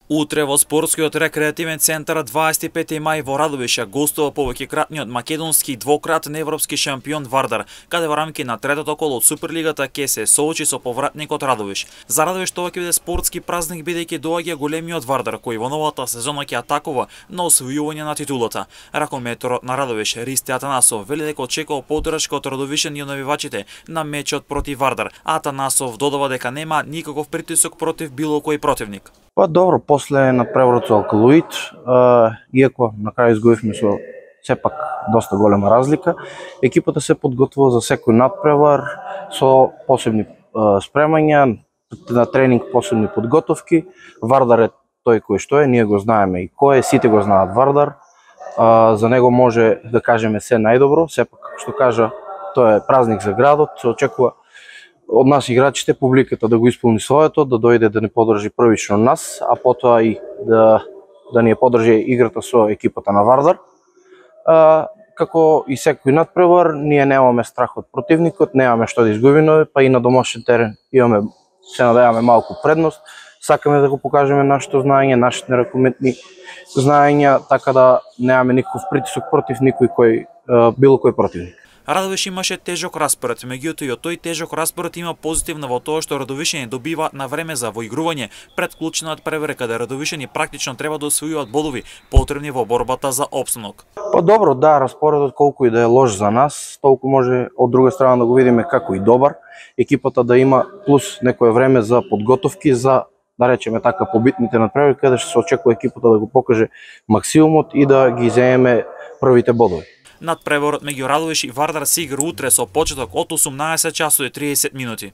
Утре во спортскиот рекреативен центар 25 мај во Радовиш гостува повеќекратниот македонски и двократен европски шампион Вардар, каде во рамки на третото коло од Суперлигата ќе се соочи со повратникот Радовиш. За Радовиш тоа ќе биде спортски празник бидејќи доаѓа големиот Вардар кој во новата сезона ќе атакува на освојување на титулата. Ракометорот на Радовиш Ристи Атанасов вели дека очекува поддршка од радовишани и навивачите на мечот против Вардар. Атанасов додава дека нема никаков притисок против било кој противник. Па добро, после надпреварот со Алкалуид, иако на крај изгубивме со сепак доста голема разлика, екипата се подготвува за секој надпревар со посебни спремања, на тренинг посебни подготовки. Вардар е тој кој што е, ние го знаеме и кој е, сите го знаат Вардар. За него може да кажеме се најдобро, сепак што кажа, тоа е празник за градот, се очекува од нас играчите, публиката да го исполни своето, да дојде да ни поддржи првично нас, а потоа и да ни поддржи играта со екипата на Вардар. Како и секој надпревар, ние немаме страх од противникот, немаме што да изгубиме, па и на домашен терен имаме, се надеваме, малку предност. Сакаме да го покажеме нашето знаење, нашите ракометни знаења, така да немаме никаков притисок против никој било кој противник. Радовиш имаше тежок распоред, меѓутоа и од тој тежок распоред има позитивно во тоа што радовишани добива на време за воигрување пред клучна надпревара каде радовишани практично треба да освојуваат бодови потребни во борбата за опстанок. Па добро, да, распоредот колку и да е лош за нас, толку може од друга страна да го видиме како и добар. Екипата да има плюс некое време за подготовки за, да речеме така, побитните надпревари каде што се очекува екипата да го покаже максимумот и да ги земеме првите бодови. Надпреварот меѓу Радовиш и Вардар се игра утре со почеток од 18 часот и 30 минути.